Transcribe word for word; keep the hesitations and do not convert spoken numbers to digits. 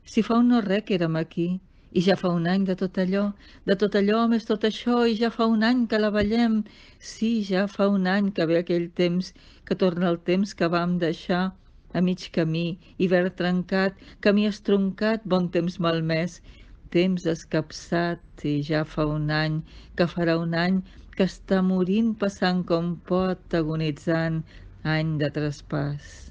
Si fa un no re que érem aquí, i ja fa un any de tot allò, de tot allò més tot això, i ja fa un any que la ballem. Sí, ja fa un any que ve aquell temps, que torna el temps que vam deixar a mig camí, hivern trencat, camí estroncat, bon temps malmès, temps escapçat, i ja fa un any, que farà un any, que està morint, passant com pot, agonitzant, any de traspàs.